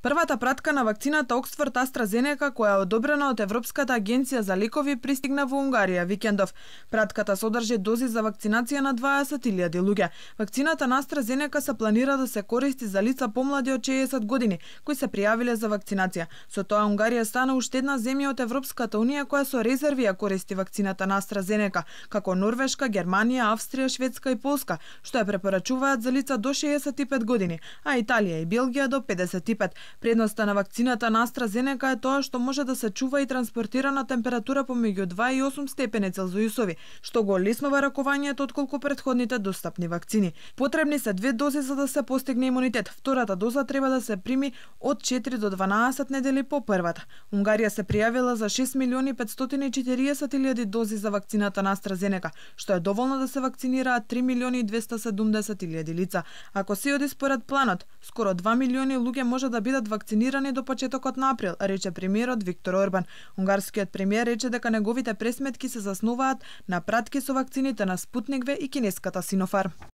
Првата пратка на вакцината Оксфорд AstraZeneca, која е одобрена од Европската агенција за лекови, пристигна во Унгарија викендов. Пратката содржи дози за вакцинација на 20.000 луѓе. Вакцината на AstraZeneca се планира да се користи за лица помлади од 60 години кои се пријавиле за вакцинација. Со тоа Унгарија стана уште една земја од Европската унија која со резерви ја користи вакцината на AstraZeneca, како Норвешка, Германија, Австрија, Шведска и Полска, што ја препорачуваат за лица до 65 години, а Италија и Белгија до 55. Предноста на вакцината на AstraZeneca е тоа што може да се чува и транспортира на температура помеѓу 2 и 8 степени Целзиусови, што го олеснува ракувањето отколку претходните достапни вакцини. Потребни се 2 дози за да се постигне имунитет. Втората доза треба да се прими од 4 до 12 недели по првата. Унгарија се пријавила за 6.540.000 дози за вакцината на AstraZeneca, што е доволно да се вакцинираат 3.270.000 лица. Ако се оди според планот, скоро 2 милиони луѓе може да бидат вакцинирани до почетокот на април, рече премиерот Виктор Орбан. Унгарскиот премиер рече дека неговите пресметки се заснуваат на пратки со вакцините на Спутник V и кинеската Синофарм.